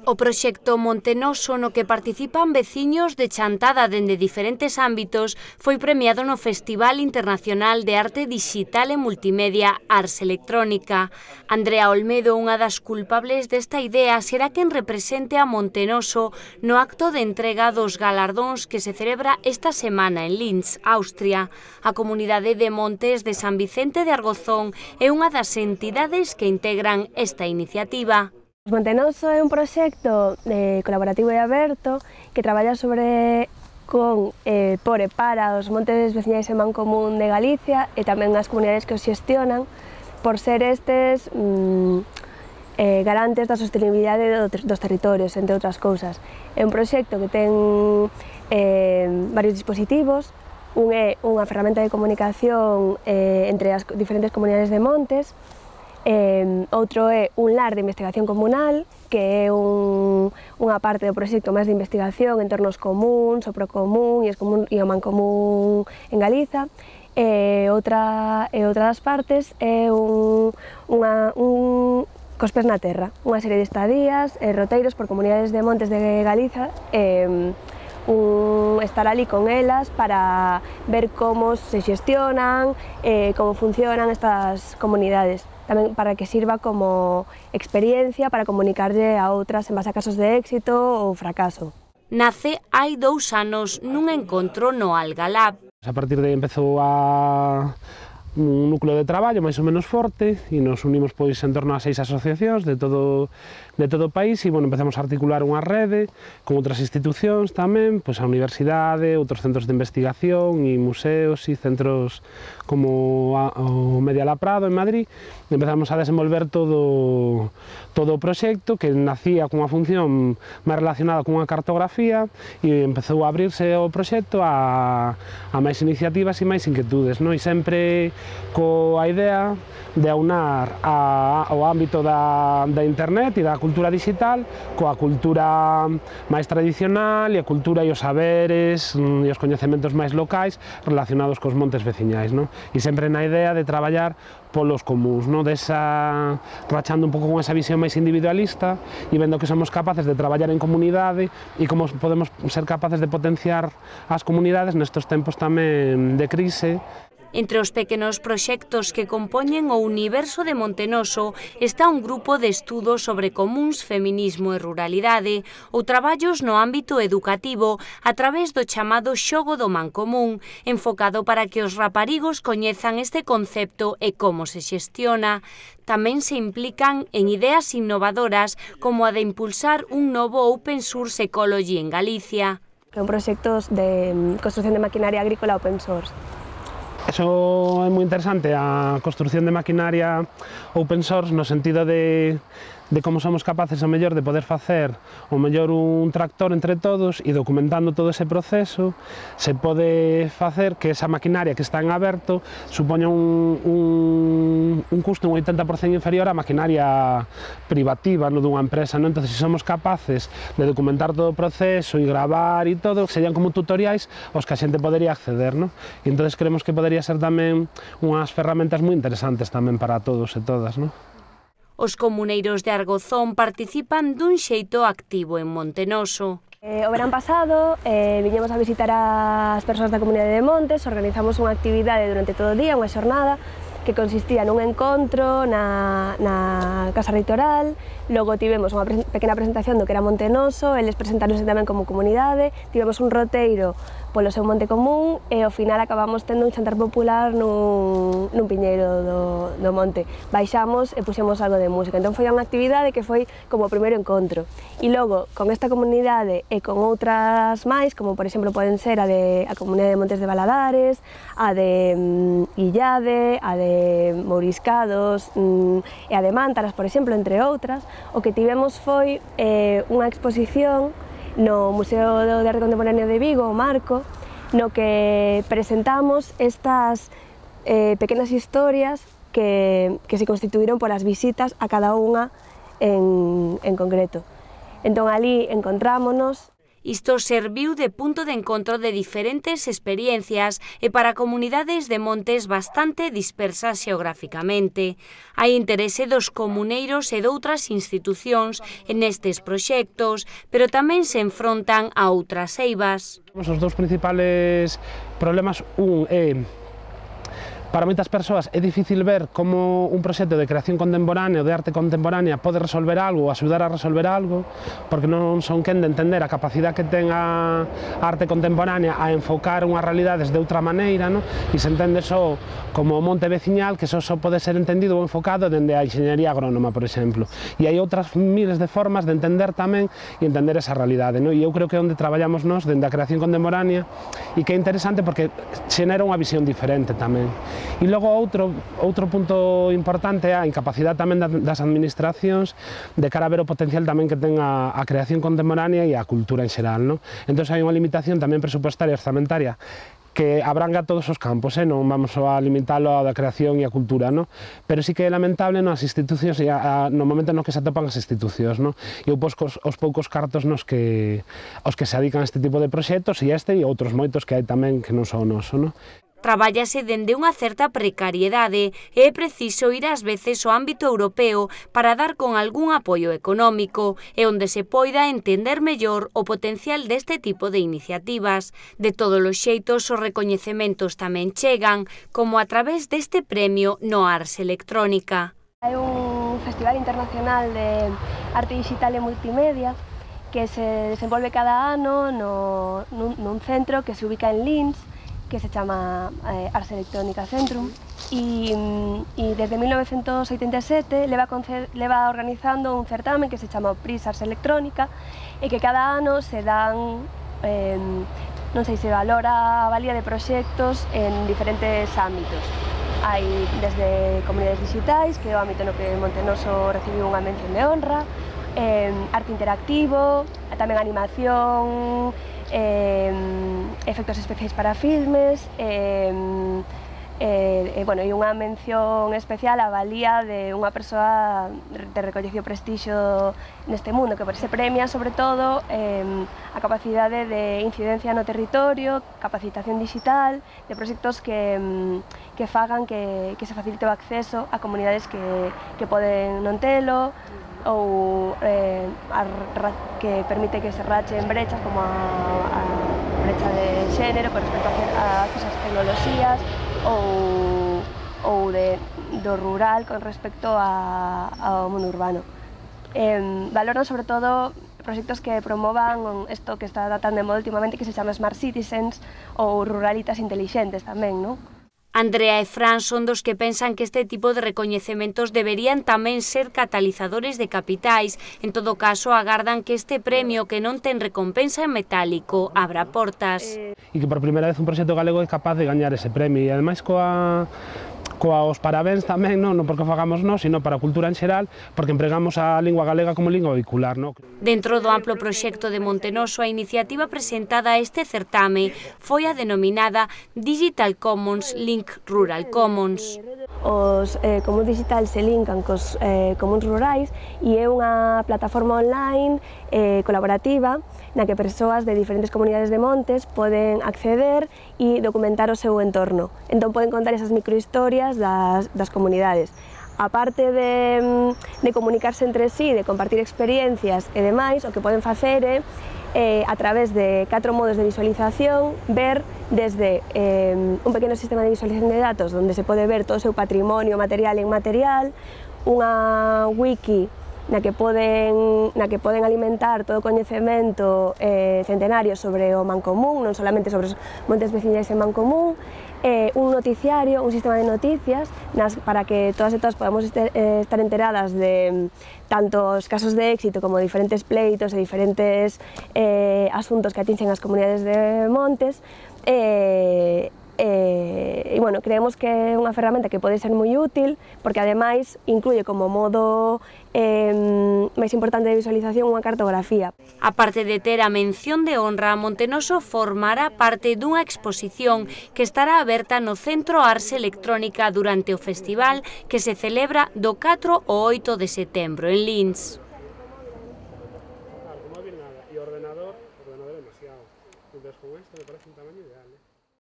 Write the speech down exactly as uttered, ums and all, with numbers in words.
O proxecto Montenoso, no que participan veciños de Chantada dende diferentes ámbitos, foi premiado no Festival Internacional de Arte Digital e Multimedia Ars Electrónica. Andrea Olmedo, unha das culpables desta idea, será quen represente a Montenoso no acto de entrega dos galardóns que se celebra esta semana en Linz, Austria. A comunidade de Montes de San Vicente de Argozón é unha das entidades que integran esta iniciativa. Montenoso é un proxecto eh, colaborativo e aberto que traballa sobre con, eh, por e para os montes veciñais en Mancomún de Galicia e tamén as comunidades que os xestionan por ser estes mm, eh, garantes da sostenibilidade do, dos territorios, entre outras cousas. É un proxecto que ten eh, varios dispositivos. Un é unha ferramenta de comunicación eh, entre as diferentes comunidades de montes. Eh, outro é un lar de investigación comunal, que é un, unha parte do proxecto máis de investigación en tornos comuns, o procomún e, común, e o mancomún en Galiza. E outra, e outra das partes é un, unha, un cos pés na terra, unha serie de estadías e roteiros por comunidades de montes de Galiza, eh, un estar ali con elas para ver como se xestionan, eh, como funcionan estas comunidades. Tamén para que sirva como experiencia para comunicarlle a outras en base a casos de éxito ou fracaso. Nace hai dous anos nun encontro no Algalab. A partir de aí empezou a un núcleo de traballo máis ou menos forte e nos unimos pois en torno a seis asociacións de todo de todo o país e bueno, empezamos a articular unha rede con outras institucións tamén, pois a universidade, outros centros de investigación e museos e centros como a, o Medialab Prado en Madrid. Empezamos a desenvolver todo todo o proxecto que nacía cunha función máis relacionada cunha cartografía e empezou a abrirse o proxecto a, a máis iniciativas e máis inquietudes, non? E sempre coa idea de aunar a, ao ámbito da, da internet e da cultura digital coa cultura máis tradicional e a cultura e os saberes e os coñecementos máis locais relacionados cos montes veciñais, non? E sempre na idea de traballar polos comuns, non? Desa, rachando un pouco con esa visión máis individualista e vendo que somos capaces de traballar en comunidade e como podemos ser capaces de potenciar as comunidades nestes tempos tamén de crise. Entre os pequenos proxectos que compoñen o universo de Montenoso está un grupo de estudos sobre comuns, feminismo e ruralidade ou traballos no ámbito educativo a través do chamado xogo do mancomún, enfocado para que os raparigos coñezan este concepto e como se xestiona. Tamén se implican en ideas innovadoras como a de impulsar un novo Open Source Ecology en Galicia. Que son proxectos de construcción de maquinaria agrícola open source. Eso é moi interesante, a construcción de maquinaria open source no sentido de, de como somos capaces o mellor de poder facer o mellor un tractor entre todos e documentando todo ese proceso se pode facer que esa maquinaria que está en aberto supoña un, un, un custo un oitenta por cento inferior á maquinaria privativa, non dunha empresa, non? Entón, se somos capaces de documentar todo o proceso e gravar e todo, serían como tutoriais aos que a xente podería acceder, non? E entón, creemos que podería ser tamén unhas ferramentas moi interesantes tamén para todos e todas, non? Os comuneiros de Argozón participan dun xeito activo en Montenoso. Eh, o verán pasado eh, viñemos a visitar as persoas da comunidade de Montes, organizamos unha actividade durante todo o día, unha xornada, que consistía nun encontro na, na Casa Reitoral, logo tivemos unha pre pequena presentación do que era Montenoso, eles presentaronse tamén como comunidade, tivemos un roteiro polo seu monte común e ao final acabamos tendo un xantar popular nun, nun piñeiro do, do monte. Baixamos e puxemos algo de música, entón foi unha actividade que foi como o primeiro encontro. E logo, con esta comunidade e con outras máis, como por exemplo poden ser a de a comunidade de Montes de Valadares, a de mm, Illade, a de Mouriscados mm, e a de Mántaras, por exemplo, entre outras, o que tivemos foi eh, unha exposición no Museo de Arte Contemporáneo de Vigo, o Marco, no que presentamos estas eh, pequenas historias que, que se constituíron polas visitas a cada unha en, en concreto. Entón, ali encontrámonos. Isto serviu de punto de encontro de diferentes experiencias e para comunidades de montes bastante dispersas xeográficamente. Hai interese dos comuneiros e doutras institucións en estes proxectos, pero tamén se enfrontan a outras eivas. Os dous principales problemas, un é para moitas persoas é difícil ver como un proxecto de creación contemporánea ou de arte contemporánea pode resolver algo ou axudar a resolver algo, porque non son quen de entender a capacidade que ten a arte contemporánea a enfocar unhas realidades de outra maneira, no? E se entende só como o monte veciñal, que só, só pode ser entendido ou enfocado dende a enxeñería agrónoma, por exemplo. E hai outras miles de formas de entender tamén e entender esa realidade, no? E eu creo que é onde traballamos nós, dende a creación contemporánea, e que é interesante porque xenera unha visión diferente tamén. E logo outro, outro punto importante é a incapacidade tamén das administracións de cara a ver o potencial tamén que ten a, a creación contemporánea e a cultura en xeral, no? Entón hai unha limitación tamén presupuestaria e orzamentaria que abranga todos os campos, eh? Non vamos a limitalo a da creación e a cultura, no? Pero sí que é lamentable nas institucións e a, a, no momento no que se atopan as institucións, no? E os, os poucos cartos nos que, os que se adican a este tipo de proxectos e este e outros moitos que hai tamén que non son o noso, no? Trabállase dende unha certa precariedade e é preciso ir ás veces ao ámbito europeo para dar con algún apoio económico e onde se poida entender mellor o potencial deste tipo de iniciativas. De todos os xeitos, os recoñecementos tamén chegan, como a través deste premio no Ars Electrónica. Hai un festival internacional de arte digital e multimedia que se desenvolve cada ano no, nun, nun centro que se ubica en Linz, que se chama eh, Ars Electrónica Centrum, e, e desde mil novecentos oitenta e sete leva, leva organizando un certamen que se chama Prix Ars Electrónica e que cada ano se dan, eh, non sei, se valora a valía de proxectos en diferentes ámbitos. Hai desde comunidades digitais, que é o ámbito no que Montenoso recibiu unha mención de honra, eh, arte interactivo, tamén animación, Eh, efectos especiais para filmes, eh, eh, eh, bueno, e unha mención especial á valía de unha persoa de recollecido prestixio neste mundo, que se premia sobre todo eh, a capacidade de incidencia no territorio, capacitación digital, de proxectos que, que fagan que, que se facilite o acceso a comunidades que, que poden non telo, ou eh, a, que permite que se rachen brechas como a, a brecha de xénero con respecto a acceso ás tecnoloxías ou, ou de, do rural con respecto a, ao mundo urbano. Eh, valoran sobre todo proxectos que promovan isto que está tan de moda últimamente, que se chama Smart Citizens ou ruralitas intelixentes tamén, non? Andrea e Fran son dos que pensan que este tipo de recoñecementos deberían tamén ser catalizadores de capitais. En todo caso, agardan que este premio, que non ten recompensa en metálico, abra portas. E que por primeira vez un proxecto galego é capaz de gañar ese premio. E ademais coa... coa os parabéns tamén, non, non porque o fagamos nós, sino para a cultura en xeral, porque empregamos a lingua galega como lingua vehicular, non? Dentro do amplo proxecto de Montenoso, a iniciativa presentada a este certame foi a denominada Digital Commons Link Rural Commons. Os eh, comuns digitais se linkan cos eh, comuns rurais e é unha plataforma online eh, colaborativa na que persoas de diferentes comunidades de montes poden acceder e documentar o seu entorno. Entón poden contar esas microhistorias das, das comunidades. Aparte de, de comunicarse entre sí, de compartir experiencias e demais, o que poden facer é, eh, a través de catro modos de visualización, ver desde eh, un pequeno sistema de visualización de datos onde se pode ver todo o seu patrimonio material e inmaterial, unha wiki na que poden, na que poden alimentar todo o coñecemento eh, centenario sobre o Mancomún, non solamente sobre os montes veciñais en Mancomún, eh, un noticiario, un sistema de noticias nas, para que todas e todas podamos este, eh, estar enteradas de tanto os casos de éxito como diferentes pleitos e diferentes eh, asuntos que atinxen as comunidades de montes. Eh, E, e, bueno, creemos que é unha ferramenta que pode ser moi útil porque ademais incluye como modo eh, máis importante de visualización unha cartografía. A parte de ter a mención de honra, Montenoso formará parte dunha exposición que estará aberta no Centro Ars Electrónica durante o festival que se celebra do catro ao oito de setembro en Linz. parece un tamaño